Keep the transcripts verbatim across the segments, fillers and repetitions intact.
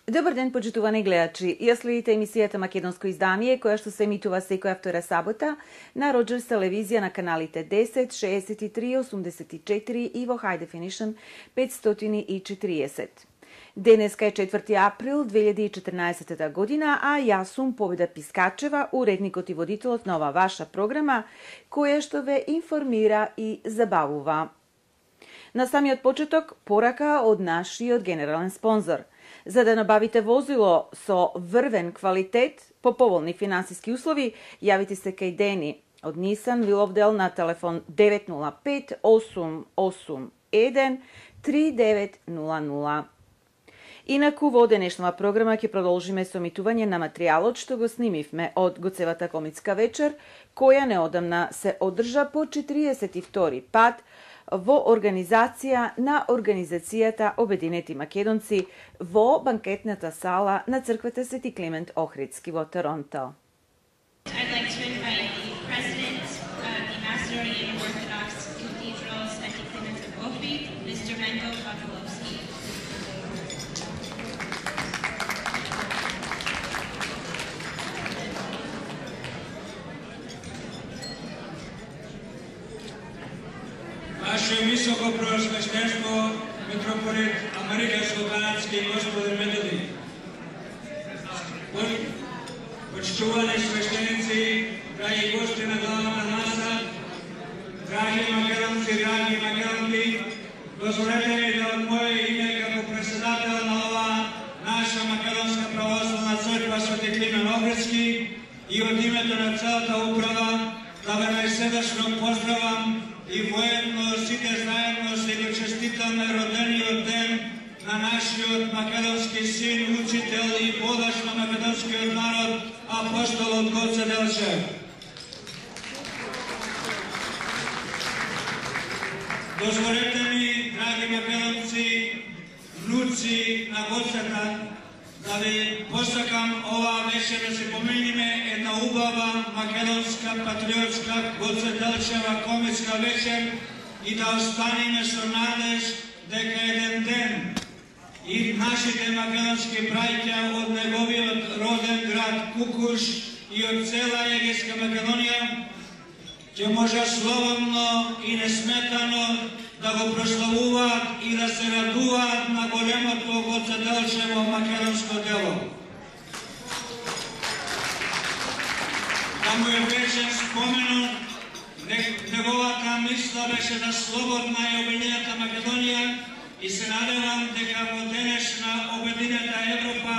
Добар ден, почитувани гледачи. Ја следите емисијата Македонско издание, која што се емитува секоја втора сабота на Роџерс телевизија на каналите десет, шеесет и три, осумдесет и четири и во High Definition петстотини и четириесет. Денеска е четврти април две илјади и четрнаесета година, а јас сум Победа Пискачева, уредникот и водителот на ова ваша програма, која што ве информира и забавува. На самиот почеток, порака од нашиот генерален спонзор. За да набавите возило со врвен квалитет по поволни финансиски услови, јавите се кај Дени од Нисан Виловдел на телефон девет нула пет осум осум еден три девет нула нула. Инаку во денешнава програма ќе продолжиме со емитување на материјалот што го снимивме од Гоцевата комитска вечер, која неодамна се одржа по четириесет и втори пат во организација на Организацијата Обединети македонци во банкетната сала на црквата Свети Климент Охридски во Торонто. I'd like to invite the President of the Macedonian Orthodox Cathedral, Svetý Kliment of Ohrid, Mister Menko Pavlovski. Ваше високо преосвещенство, митрополит Американско-канадски господин Методи, почитувани свештеници, драги гости на главната маса, драги македонци, драги македонки, дозволете ми да од моје име како председател на ова наша македонска православна црква Свети Климент Охридски и од името на целата управа да ве најсрдечно поздравам и воедно сите заедно се го честитаме родениот ден на нашиот македонски син, учител и водаш на македонскиот народ, апостолот Гоце Делчев. Дозволете ми, драги македонци, внуци на Гоцета, да ви посакам ова вечер да се помениме една убава македонска, патриотска, Гоце Делчева комитска вечер и да останеме со надеж дека еден ден и нашите македонски браќа од неговиот роден град Кукуш и од цела Егејска Македонија ќе може слободно и несметано да го прославуваат и да се радуваат на големото Гоце Делчево македонско дело. Да му е вечен споменот, неговата мисла беше за слободна и обединета Македонија и се надевам дека во денешна обединета Европа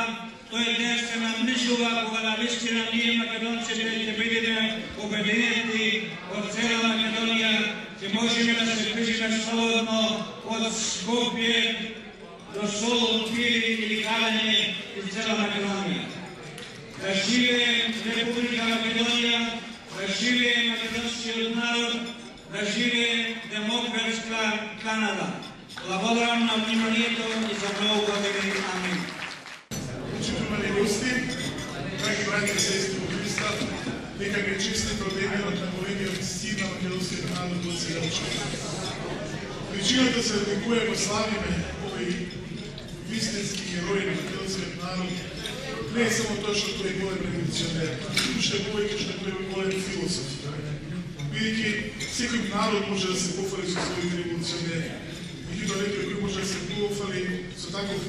тој ден се наближува кога навистина ние македонците ќе бидеме обединети од цела Македонија, ќе можеме да се движиме слободно од Скопје до Солун, Пири или Калење из цела Македонија. Да живее Република Македонија, да живее македонскиот народ, да живее демократска Канада. Благодарам на вниманието и за многу години. Амин. Почитувани гости, драги браќа и сестри во Христа, нека ги честите денот на големиот син на македонскиот народ Гоце Делчев. Причината се ради која го славиме овој вистински герој на македонскиот народ не е само тоа што тој е голем револуционер, уште повеќе што тој е голем философ. Бидејќи секој народ може да се пофали со своите револуционери. Меѓутоа некој кој може да се пофали со таков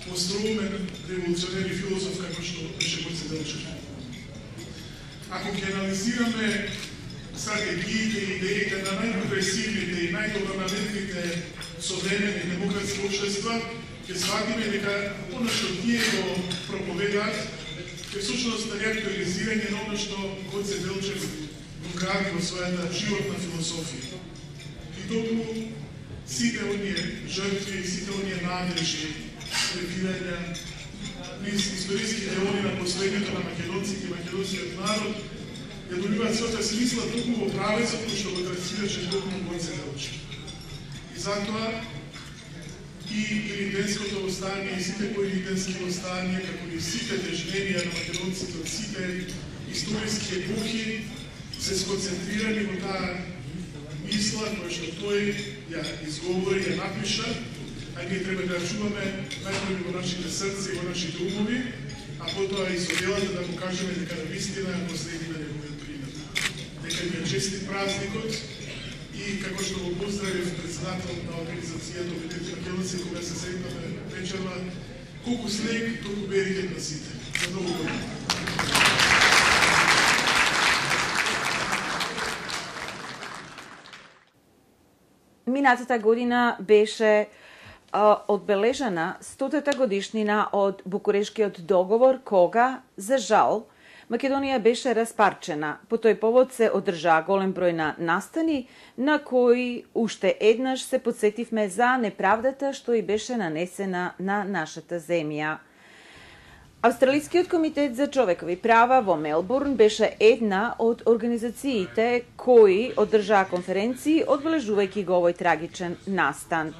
остроумен револуционер и философ како што беше Гоце Делчев. Ако ќе анализираме стратегиите и идеите на најпрогресивните и најдобронамерните современи демократски општества, ќе сватиме дека оно што тие го проповедаат е всушност реактуализирање на оно што Гоце Делчев го гради во својата животна философија. И токму сите оние жртви, сите оние надежи, прекидања низ историските деони на последното на македонците и македонскиот народ ја добиваат својата смисла токму во правецот кој што го трасираше токму Гоце Делчев. И затоа и илиденското востание, и сите поилиденски востанија, како и сите тежненија на македонците од сите историски епохи, се сконцентрирани во таа мисла која што тој ја изговори, ја напиша, а ние треба да чуваме најпрви во нашите срци и во нашите умови, а потоа и со делата да му кажеме дека навистина го следиме неговиот пример. Дека ни е честит празникот и како што го поздравив председател на организацијата Обединети македонци кога се сретнавме вечерва, колку снег, толку беригет на сите. За ново година. Минатата година беше а, одбележана стотата годишнина од Букурешкиот договор, кога, за жал, Македонија беше распарчена. По тој повод се одржаа голем број на настани, на кои уште еднаш се подсетивме за неправдата што и беше нанесена на нашата земја. Австралискиот комитет за човекови права во Мелбурн беше една од организациите кои одржаа конференции одбележувајќи го овој трагичен настан.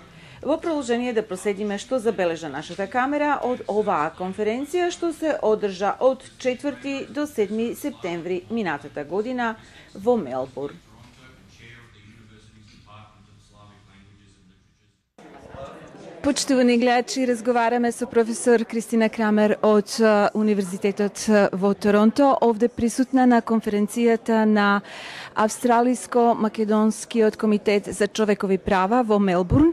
Во продолжение да проследиме што забележа нашата камера од оваа конференција што се одржа од четврти до седми септември минатата година во Мелбурн. Почитувани гледачи, разговараме со професор Кристина Крамер од Универзитетот во Торонто, овде присутна на конференцијата на Австралиско-македонскиот комитет за човекови права во Мелбурн.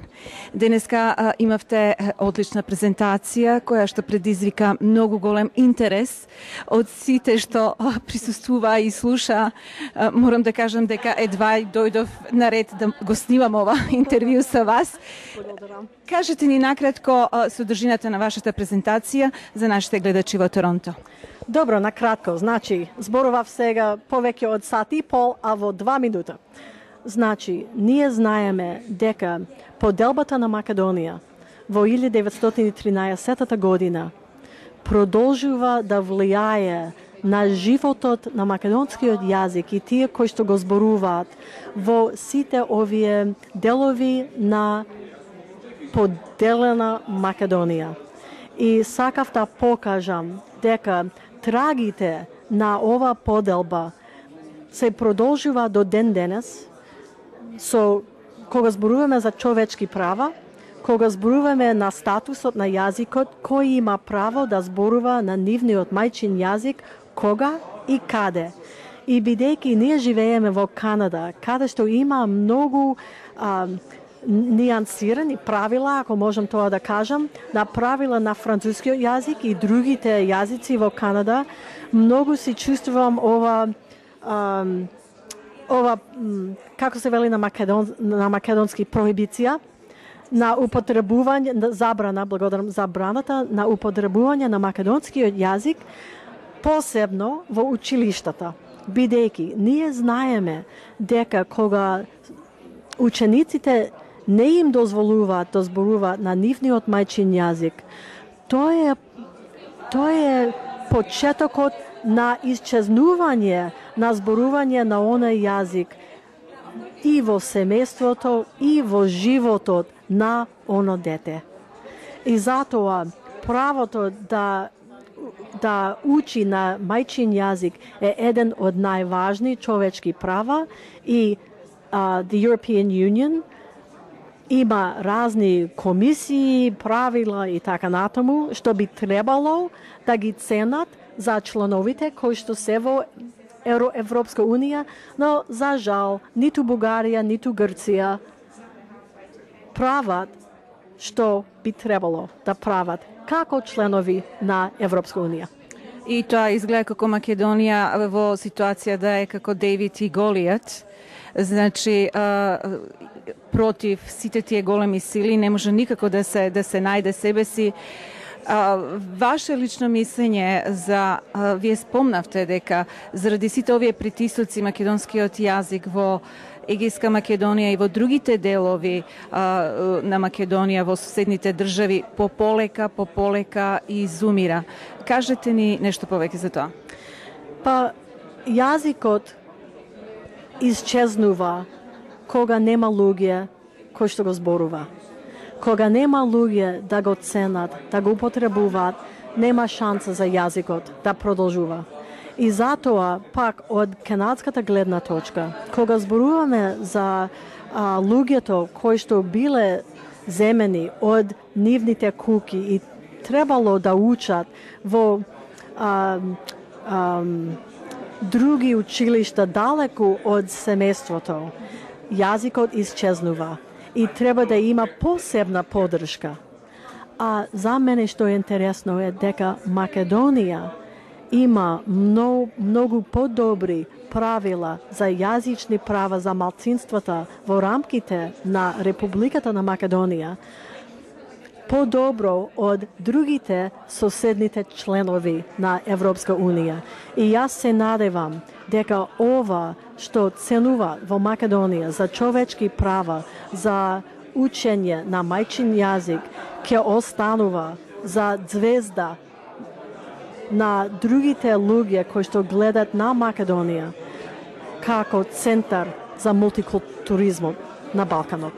Денеска а, имавте одлична презентација која што предизвика многу голем интерес од сите што а, присуствува и слуша. А, морам да кажам дека едва дојдов на ред да го снимам ова интервју со вас. Благодарам. Кажете ни накратко содржината на вашата презентација за нашите гледачи во Торонто. Добро, накратко. Значи, зборував сега повеќе од сат и пол, а во два минута. Значи, ние знаеме дека поделбата на Македонија во илјада деветстотини и тринаесетта година продолжува да влијае на животот на македонскиот јазик и тие кои што го зборуваат во сите овие делови на поделена Македонија. И сакав да покажам дека трагите на ова поделба се продолжува до ден денес, со кога зборуваме за човечки права, кога зборуваме на статусот на јазикот, кој има право да зборува на нивниот мајчин јазик, кога и каде. И бидејќи ние живееме во Канада, каде што има многу а, нијансирани правила, ако можам тоа да кажам, на правила на францускиот јазик и другите јазици во Канада, многу си чувствувам ова а, ова како се вели на македон на македонски проибиција на употребување на забрана, благодарам, забраната на употребување на македонскиот јазик, посебно во училиштата. Бидејќи ние знаеме дека кога учениците не им дозволуваат да зборуваат на нивниот мајчин јазик, тоа е тоа е почетокот на исчезнување на зборување на оној јазик и во семејството и во животот на оно дете. И затоа правото да да учи на мајчин јазик е еден од најважни човечки права и uh, the European Union има разни комисии, правила и така натаму, што би требало да ги ценат за членовите кои што се во Европска Унија, но за жал ниту Бугарија, ниту Грција прават што би требало да прават како членови на Европска Унија. И тоа изгледа како Македонија во ситуација да е како Девид и Голијат. Значи, а, против сите тие големи сили не може никако да се да се најде себе си. А, ваше лично мислење за а, вие спомнавте дека заради сите овие притисоци македонскиот јазик во Егејска Македонија и во другите делови а, на Македонија во соседните држави пополека, пополека изумира. Кажете ни нешто повеќе за тоа. Па јазикот исчезнува кога нема луѓе кои што го зборува. Кога нема луѓе да го ценат, да го употребуваат, нема шанса за јазикот да продолжува. И затоа, пак, од канадската гледна точка, кога зборуваме за а, луѓето кои што биле земени од нивните куки и требало да учат во а, а, други училишта далеку од семејството. Јазикот исчезнува и треба да има посебна поддршка. А за мене што е интересно е дека Македонија има многу, многу подобри правила за јазични права за малцинствата во рамките на Републиката на Македонија, подобро од другите соседните членови на Европска Унија. И јас се надевам дека ова што ценува во Македонија за човечки права, за учење на мајчин јазик, ќе останува за звезда на другите луѓе кои што гледат на Македонија како центар за мултикултуризмот на Балканот.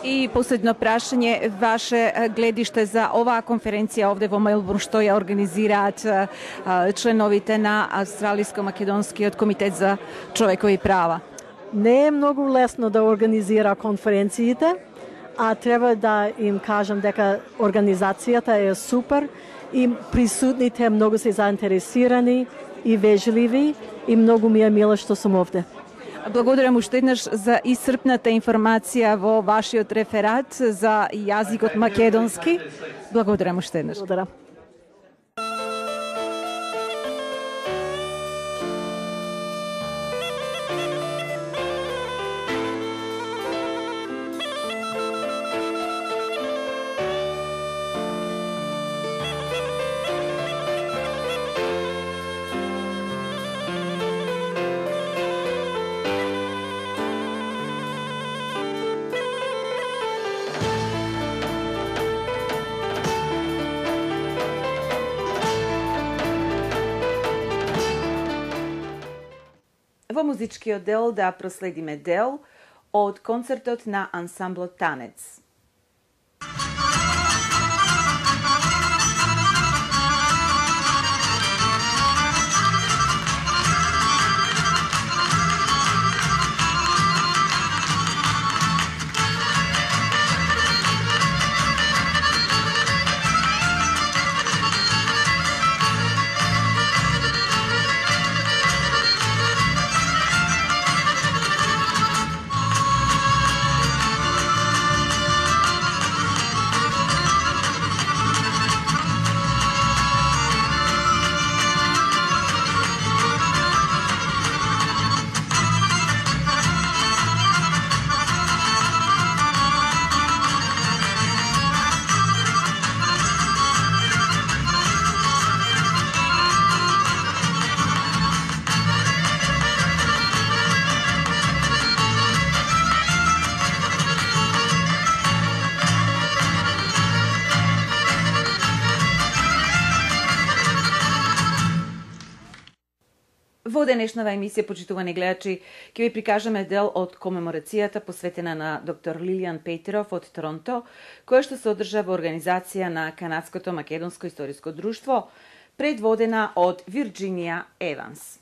И последно прашање, ваше гледиште за оваа конференција овде во Мелбурн што ја организираат членовите на Австралиско-македонскиот комитет за човекови права? Не е многу лесно да организира конференциите, а треба да им кажам дека организацијата е супер и присутните многу се заинтересирани и вежливи и многу ми е мило што сум овде. Благодарам уште еднаш за исцрпната информација во вашиот реферат за јазикот македонски. Благодарам уште еднаш. Благодарам. Во музичкиот дел да проследиме дел од концертот на ансамблот Танец. Во денешнава емисија, почитувани гледачи, ќе ви прикажеме дел од комеморацијата посветена на доктор Лилијан Петеров од Торонто, која што се одржа во организација на Канадското македонско историско друштво, предводена од Вирџинија Еванс.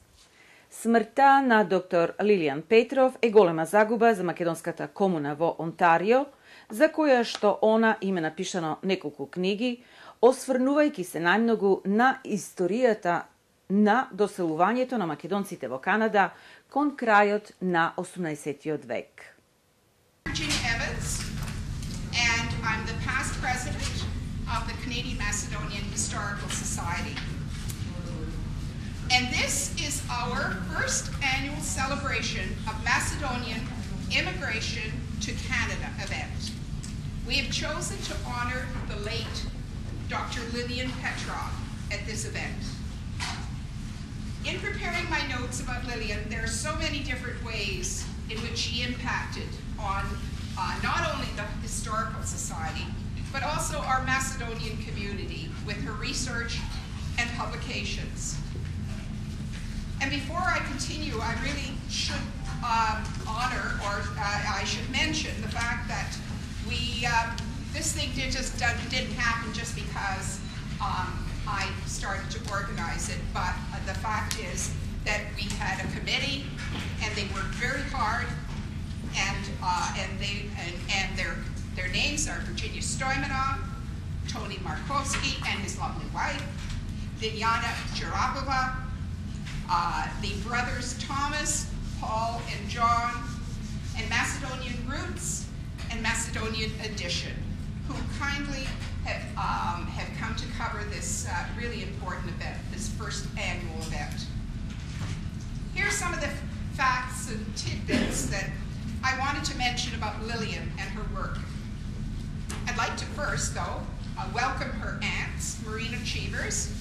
Смртта на доктор Лилијан Петров е голема загуба за македонската комуна во Онтарио, за која што она има напишано неколку книги, осврнувајќи се најмногу на историјата на доселувањето на македонците во Канада кон крајот на осумнаесеттиот век. Virginia Evans, and I'm the past president of the Canadian Macedonian Historical Society. And this is our first annual celebration of Macedonian immigration to Canada event. We have chosen to honor the late Doctor Lillian Petrov at this event. In preparing my notes about Lillian, there are so many different ways in which she impacted on uh, not only the Historical Society, but also our Macedonian community with her research and publications. And before I continue, I really should um, honor, or uh, I should mention the fact that we, uh, this thing did just, uh, didn't happen just because um, I started to organize it, but uh, the fact is that we had a committee, and they worked very hard, and uh, and they and, and their Their names are Virginia Stoimanov, Tony Markovsky and his lovely wife, Vinyana Jarapova, uh, the brothers Thomas, Paul, and John, and Macedonian Roots and Macedonian Edition, who kindly have, um, have come to cover this uh, really important event, this first annual event. Here are some of the facts and tidbits that I wanted to mention about Lillian and her work. I'd like to first, though, uh, welcome her aunts, Marina Cheevers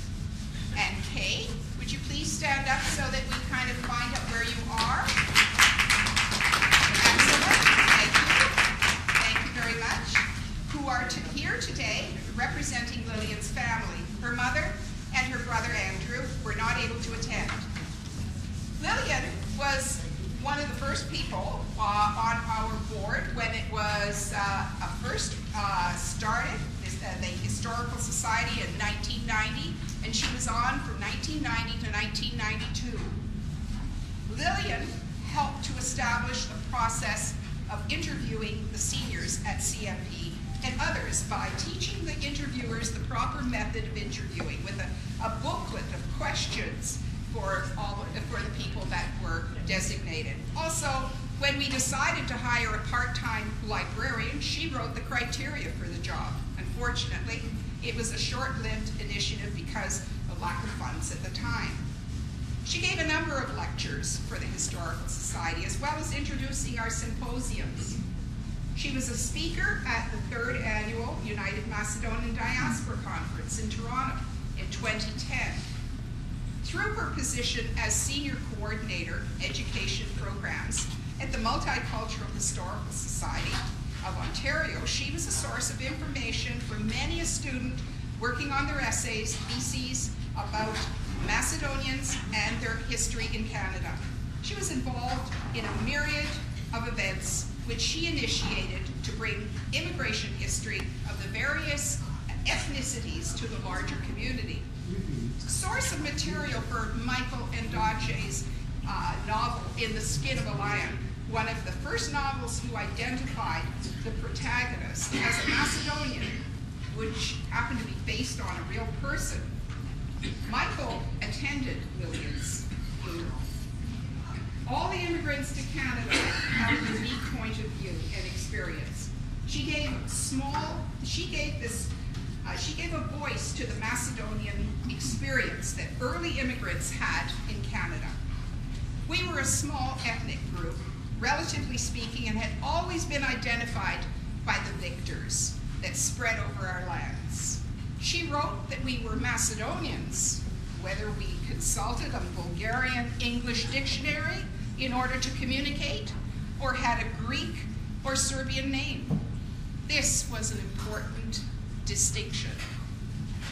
and Kay. Would you please stand up so that we kind of find out where you are? Excellent. Thank you. Thank you very much. Who are to here today representing Lillian's family. Her mother and her brother Andrew were not able to attend. Lillian was one of the first people uh, on our board when it was uh, first uh, started, this, uh, the Historical Society in nineteen ninety, and she was on from nineteen ninety to nineteen ninety-two. Lillian helped to establish the process of interviewing the seniors at C M P and others by teaching the interviewers the proper method of interviewing with a, a booklet of questions for all for the people that were designated. Also, when we decided to hire a part-time librarian, she wrote the criteria for the job. Unfortunately, it was a short-lived initiative because of lack of funds at the time. She gave a number of lectures for the Historical Society, as well as introducing our symposiums. She was a speaker at the third annual United Macedonian Diaspora Conference in Toronto in twenty ten. Through her position as Senior Coordinator, Education Programs at the Multicultural Historical Society of Ontario, she was a source of information for many a student working on their essays, theses about Macedonians and their history in Canada. She was involved in a myriad of events which she initiated to bring immigration history of the various ethnicities to the larger community. Source of material for Michael Ndadje's uh, novel, In the Skin of a Lion, one of the first novels who identified the protagonist as a Macedonian, which happened to be based on a real person. Michael attended Lillian's funeral. All the immigrants to Canada have a unique point of view and experience. She gave small, she gave this, uh, she gave a voice to the Macedonian experience that early immigrants had in Canada. We were a small ethnic group, relatively speaking, and had always been identified by the victors that spread over our lands. She wrote that we were Macedonians, whether we consulted a Bulgarian English dictionary in order to communicate, or had a Greek or Serbian name. This was an important distinction.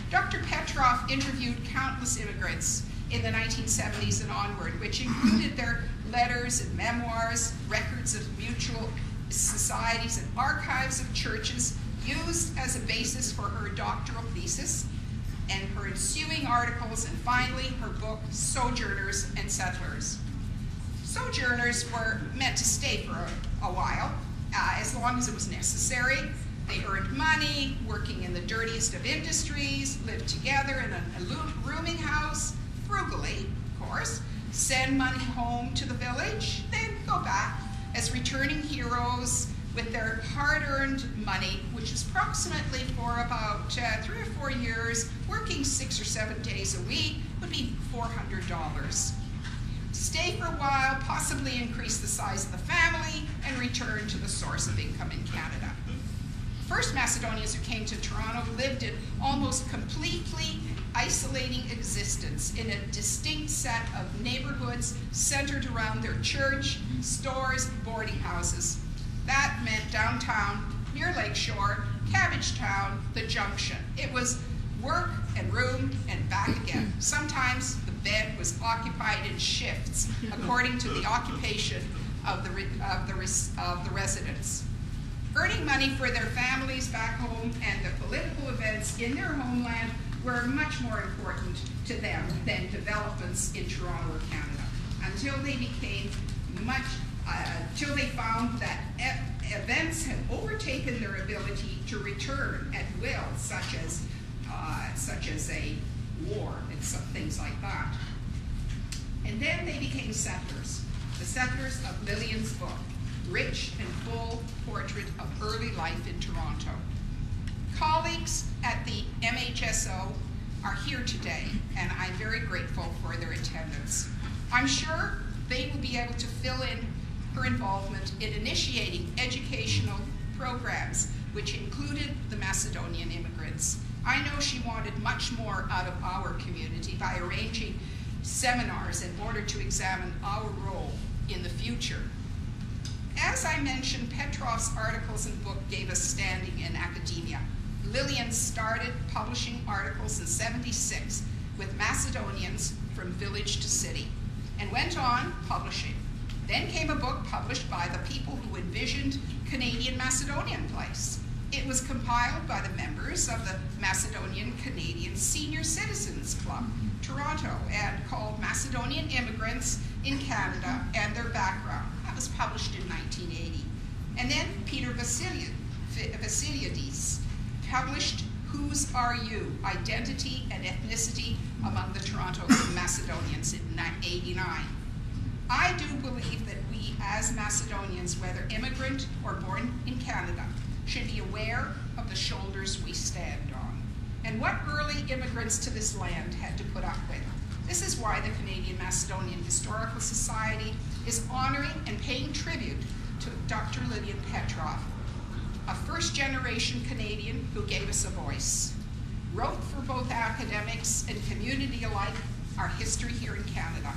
Doctor Petrov interviewed countless immigrants in the nineteen seventies and onward, which included their letters and memoirs, records of mutual societies, and archives of churches used as a basis for her doctoral thesis, and her ensuing articles, and finally her book, Sojourners and Settlers. Sojourners were meant to stay for a, a while, uh, as long as it was necessary. They earned money, working in the dirtiest of industries, lived together in a, a rooming house, frugally, of course, send money home to the village, then go back as returning heroes with their hard-earned money, which is approximately for about uh, three or four years, working six or seven days a week, would be four hundred dollars. Stay for a while, possibly increase the size of the family, and return to the source of income in Canada. First Macedonians who came to Toronto lived in almost completely isolating existence in a distinct set of neighborhoods centered around their church, stores, boarding houses. That meant downtown, near Lakeshore, Cabbagetown, the Junction. It was work and room and back again. Sometimes the bed was occupied in shifts according to the occupation of the, of the, of the residents. Earning money for their families back home and the political events in their homeland were much more important to them than developments in Toronto or Canada, until they became much uh, till they found that e- events had overtaken their ability to return at will, such as, uh, such as a war and some things like that. And then they became settlers, the settlers of Lillian's book, rich and full portrait of early life in Toronto. Colleagues at the M H S O are here today, and I'm very grateful for their attendance. I'm sure they will be able to fill in her involvement in initiating educational programs, which included the Macedonian immigrants. I know she wanted much more out of our community by arranging seminars in order to examine our role in the future. As I mentioned, Petrov's articles and book gave us standing in academia. Lillian started publishing articles in seventy-six with Macedonians from village to city, and went on publishing. Then came a book published by the people who envisioned Canadian Macedonian Place. It was compiled by the members of the Macedonian Canadian Senior Citizens Club, Toronto, and called Macedonian Immigrants in Canada and Their Background. That was published in nineteen eighty. And then Peter Vassili- Vassiliadis published Whose Are You? Identity and Ethnicity Among the Toronto Macedonians in eighty-nine. I do believe that we as Macedonians, whether immigrant or born in Canada, should be aware of the shoulders we stand on and what early immigrants to this land had to put up with. This is why the Canadian Macedonian Historical Society is honoring and paying tribute to Doctor Lillian Petrov, a first-generation Canadian who gave us a voice, wrote for both academics and community alike our history here in Canada.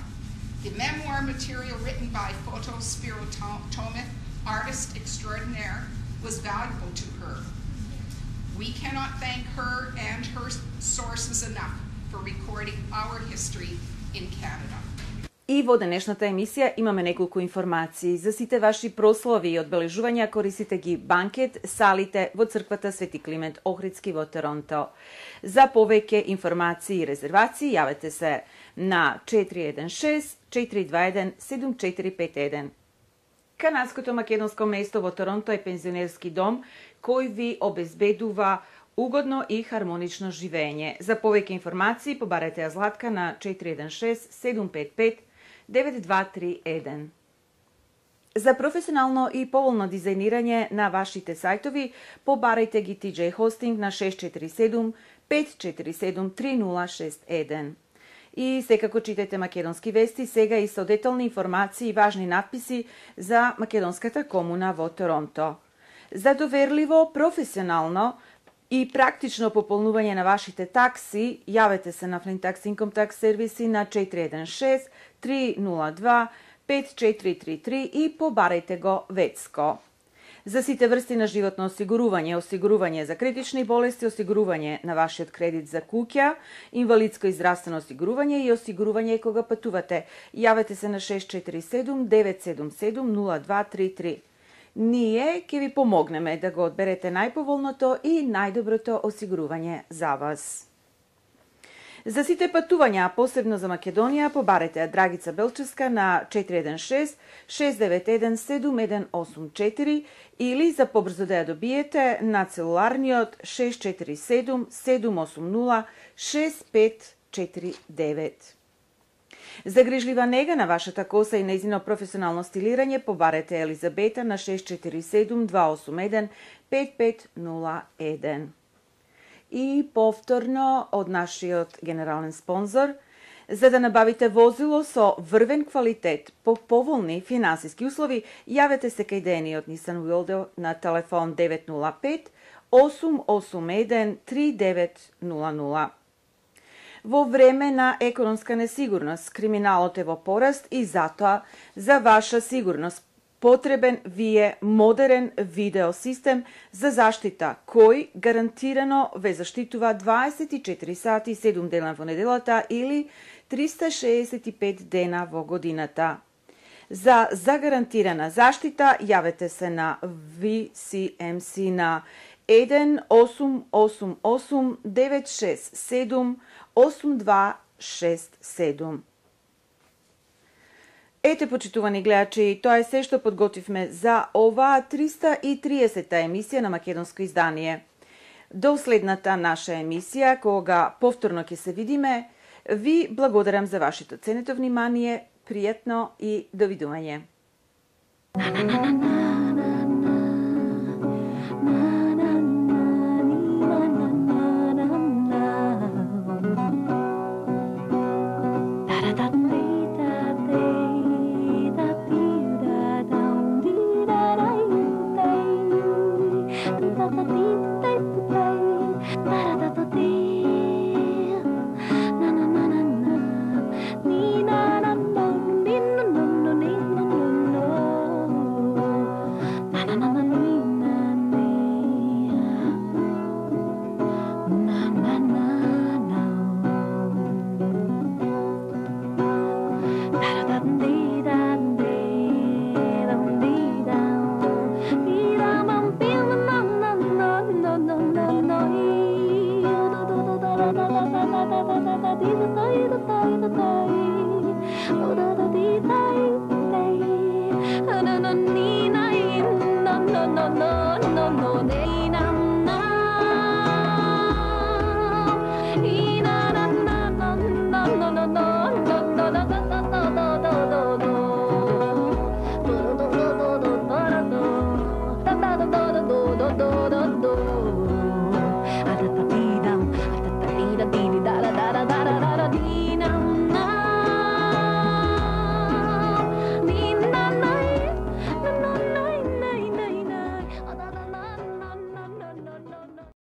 The memoir material written by Foto Spiro Tomith, artist extraordinaire, was valuable to her. We cannot thank her and her sources enough for recording our history in Canada. И во денешната емисија имаме неколку информации. За сите ваши прослави и одбележувања корисите ги банкет салите во црквата Свети Климент Охридски во Торонто. За повеќе информации и резервации јавете се на четири еден шест четири два еден седум четири пет еден. Канадското македонско место во Торонто е пензионерски дом кој ви обезбедува угодно и хармонично живење. За повеќе информации побарете ја Златка на четири еден шест седум пет пет девет два три еден. За професионално и поволно дизајнирање на вашите сајтови, побарајте ги Ти Џеј Hosting на шест четири седум пет четири седум три нула шест еден. И секако читајте македонски вести, сега и со детални информации и важни надписи за македонската комуна во Торонто. За доверливо, професионално и практично пополнување на вашите такси, јавете се на Flintax Income Tax сервиси на четири еден шест три нула два пет четири три три и побарајте го ветско. За сите врсти на животно осигурување, осигурување за критични болести, осигурување на вашиот кредит за куќа, инвалидско и здравствено осигурување и осигурување кога патувате, јавете се на шест четири седум девет седум седум нула два три три. Ние ќе ви помогнеме да го одберете најповолното и најдоброто осигурување за вас. За сите патувања, посебно за Македонија, побарете Драгица Белчевска на четири еден шест шест девет еден седум еден осум четири или за побрзо да ја добиете на целуларниот шест четири седум седум осум нула шест пет четири девет. За грижлива нега на вашата коса и нејзино професионално стилирање, побарете Елизабета на шест четири седум два осум еден пет пет нула еден. И повторно од нашиот генерален спонзор, за да набавите возило со врвен квалитет по поволни финансиски услови, јавете се кај Дени од Nissan Wildo на телефон девет нула пет осум осум еден три девет нула нула. Во време на економска несигурност, криминалот е во пораст и затоа за ваша сигурност потребен ви е модерен видеосистем за заштита, кој гарантирано ве заштитува дваесет и четири сати и седум дена во неделата или триста шеесет и пет дена во годината. За загарантирана заштита јавете се на ви си ем си на еден осум осум осум девет шест седум осум два шест седум. Ете, почитувани гледачи, тоа е се што подготвивме за оваа триста и триесета емисија на македонско издание. До следната наша емисија, кога повторно ќе се видиме, ви благодарам за вашето ценето внимание, пријатно и довидување. Nina